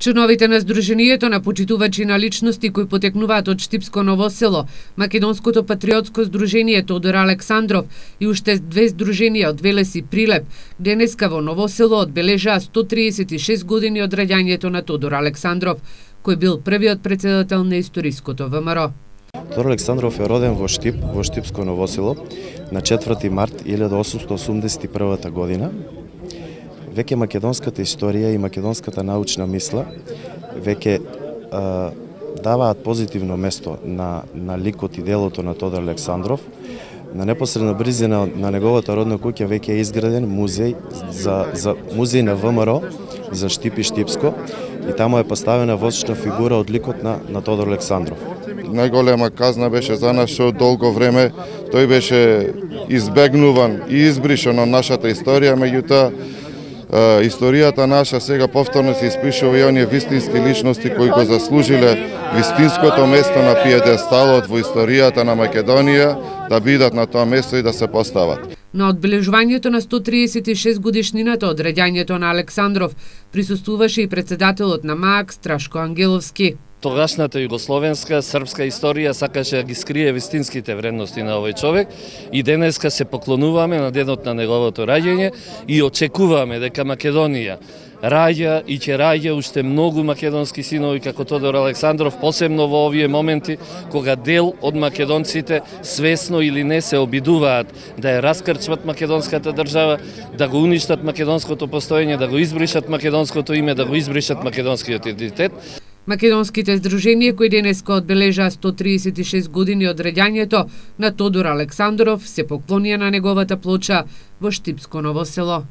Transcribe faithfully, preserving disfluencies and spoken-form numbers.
Членовите на Сдруженијето на почитувачи на личности кои потекнуваат од Штипско Ново село, Македонското патриотско здружение Тодор Александров и уште две здруженија од Велес и Прилеп, денеска во Ново село одбележаа сто триесет и шест години од раѓањето на Тодор Александров, кој бил првиот претседател на историското ВМРО. Тодор Александров е роден во Штип, во Штипско Ново село, на четврти март илјада осумстотини осумдесет и прва година. Веќе македонската историја и македонската научна мисла веќе а, даваат позитивно место на, на ликот и делото на Тодор Александров. На непосредна близина на неговата родна куќа веќе е изграден музеј за, за музеј на ВМРО за Штип и Штипско и таму е поставена восочна фигура од ликот на, на Тодор Александров. Најголема казна беше за нас што долго време тој беше избегнуван и избришан од нашата историја, меѓутоа историјата наша сега повторно се испишува и оние вистински личности кои го заслужиле вистинското место на пиедесталот во историјата на Македонија, да бидат на тоа место и да се постават. На одбележувањето на сто триесет и шест годишнината од раѓањето на Александров присуствуваше и председателот на МААК Страшко Ангеловски. Тогашната југословенска, српска историја сакаше да ги скрие вистинските вредности на овој човек и денеска се поклонуваме на денот на неговото раѓање и очекуваме дека Македонија раѓа и ќе раѓа уште многу македонски синови како Тодор Александров, посебно во овие моменти кога дел од македонците свесно или не се обидуваат да ја раскрчват македонската држава, да го уништат македонското постоење, да го избришат македонското име, да го избришат македонскиот идентитет. Македонските здруженија кои денеска одбележаа сто триесет и шест години од раѓањето на Тодор Александров се поклонија на неговата плоча во Штипско Ново село.